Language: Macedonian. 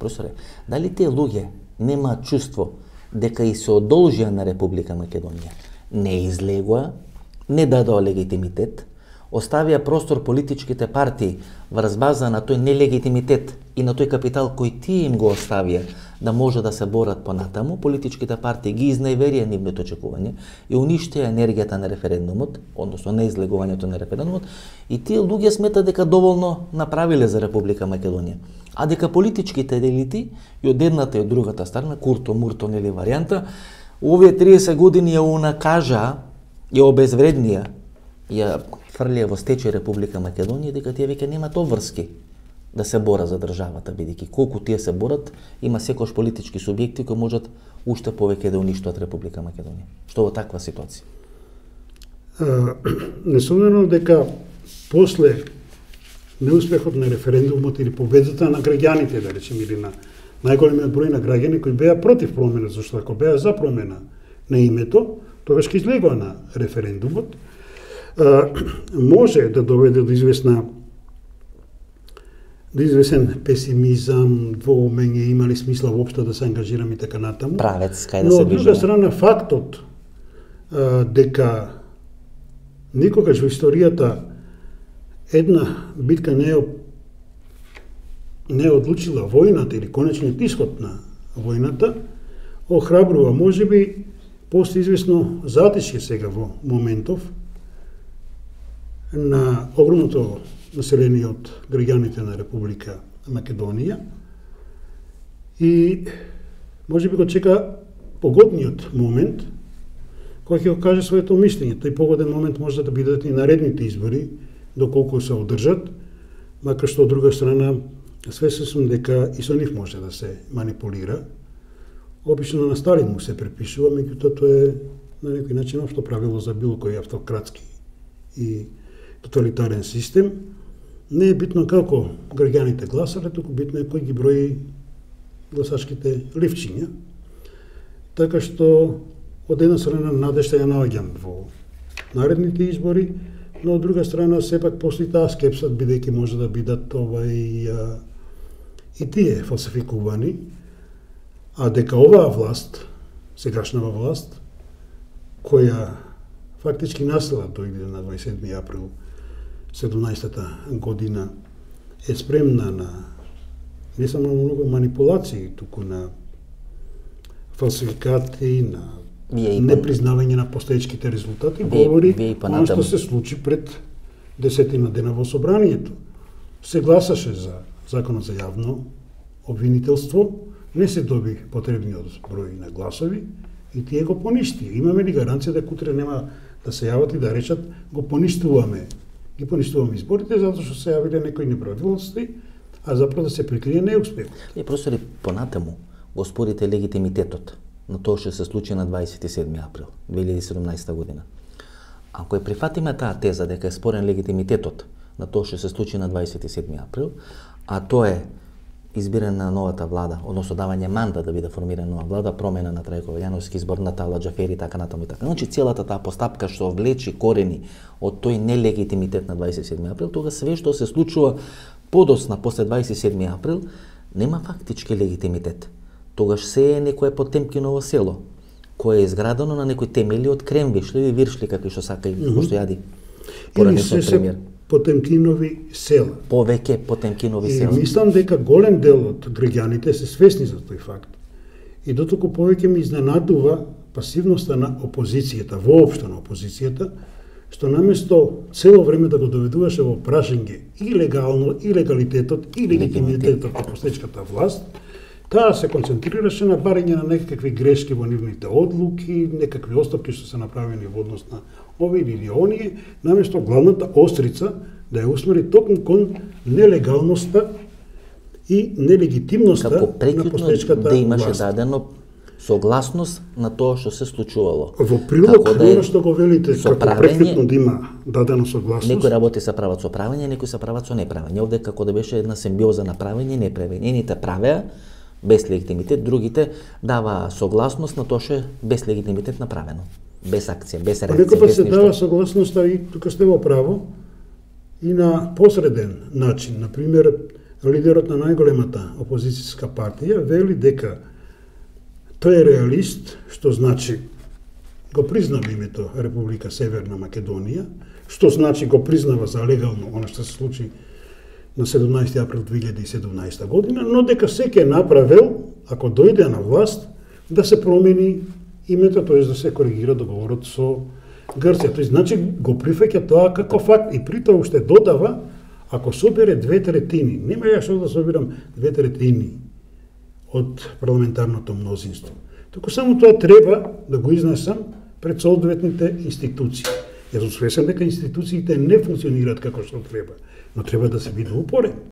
Професоре, дали тие луѓе немаат чувство дека и се одолжија на Република Македонија? Не излегоа, не дадоа легитимитет, оставија простор политичките партии врз база на тој нелегитимитет и на тој капитал кој тие им го оставија да може да се борат понатаму. Политичките партии ги изневерија нивното очекување и уништија енергијата на референдумот, односно на излегувањето на референдумот, и тие луѓе сметат дека доволно направиле за Република Македонија. А дека политичките елити и од едната и од другата страна, курто-мурто нели варијанта, овие 30 години ја унакажа, ја обезвреднија, ја фрлија во стечај Република Македонија, дека тие веќе немаат обврски да се бора за државата, бидејќи колку тие се борат, има секојаш политички субјекти кои можат уште повеќе да уништат Република Македонија. Што во таква ситуација? Несомнено дека после неуспехот на референдумот или победата на граѓаните, да речем, или на најголемиот број на граѓани кои беа против промена, зашто ако беа за промена на името, тогаш ќе излегоа на референдумот, може да доведе до извесен песимизам, двоумење, има ли смисла воопшто да се ангажираме и така натаму. Правец, кај да се се движиме. Но од друга страна фактот дека никогаш во историјата една битка не е одлучила војната или конечниот исход на војната, охрабрува, можеби постои известно затишје сега во моментов на огромното население од граѓаните на Република Македонија и можеби го чека погодниот момент кој ќе го каже своето мислење. Тој погоден момент може да бидат и наредните избори, доколку се одржат, макар што од друга страна свесен сум дека и со нив може да се манипулира. Обично на Сталин му се препишува, меѓутоа тоа е на некој начин општо правило за било кој автократски и тоталитарен систем. Не е битно како граѓаните гласале, туку битно е кој ги брои гласачките ливчиња. Така што од една страна надежда ја наоѓам во наредните избори, но од друга страна сепак постои таа скепса, бидејќи може да бидат и тие фалсификувани, а дека оваа власт, сегашнава власт, која фактички настала дојде на 27 април 17-та година, е спремна на не само на многу манипулации, туку на фалсификати, на непризнавање на постоечките резултати, говори оно што се случи пред 10 дена во собранието. Се гласаше за законот за јавно обвинителство, не се доби потребниот број на гласови и тие го поништи. Имаме ли гаранција дека утре нема да се јават и да речат го поништуваме, ги поништуваме изборите затоа што се јавиле некои неправилности, а заpravo да се прикрие неуспех. Професори, понатаму го спорите легитимитетот на тоа што се случи на 27 април 2017 година. Ако ја прифатиме таа теза дека е спорен легитимитетот на тоа што се случи на 27 април, а тоа е избирање на новата влада, односно давање мандат да биде формирана нова влада, промена на Трајко Велјановски, избор на Тала Џафери, така натаму и така. Значи целата таа постапка што влечи корени од тој нелегитимитет на 27 април, тога све што се случува подосна после 27 април нема фактички легитимитет. Тогаш се е некое Потемкиново село, кое е изградено на некои темели од кремвишли или виршли, какви што сака и што јади поранешниот премиер. Потемкинови села. Повеќе Потемкинови села. И мислам дека голем дел од граѓаните се свесни за тој факт. И дотолку повеќе ми изненадува пасивноста на опозицијата, воопшто на опозицијата, што наместо цело време да го доведуваше во прашање и легалитетот и легитимитетот на постоечката власт, таа се концентрираше на барање на некакви грешки во нивните одлуки, некакви отстапки што се направени во однос на овие или оние, наместо главната острица да ја усмери токму кон нелегалноста и нелегитимноста на постоечката власт. Да имаше дадено согласност на тоа што се случувало. Во прилог на што го велите, како преквитно да има дадено согласност. Некои работи се прават со правење, некои се прават со неправење. Овде како да беше една симбиоза на правење и неправење. Едните правеа без легитимитет, другите дава согласност на тоа што е без легитимитет направено. Без акција, без реакција. Некој пат се дава согласноста и тука сте во право и на посреден начин. Например, лидерот на најголемата опозицијска партија вели дека тој е реалист, што значи го признава името Република Северна Македонија, што значи го признава за легално она што се случи на 17 април 2017 година, но дека секој направил, ако дојде на власт, да се промени името, тоест да се коригира договорот со Грција. Тоест, значи го прифаќа тоа како факт и при тоа уште додава, ако собере 2/3, нема ја што да собирам 2/3 од парламентарното мнозинство. Току само тоа треба да го изнесам пред соодветните институции. Јас сум свесен дека институциите не функционираат како што треба, но треба да се биде упорен.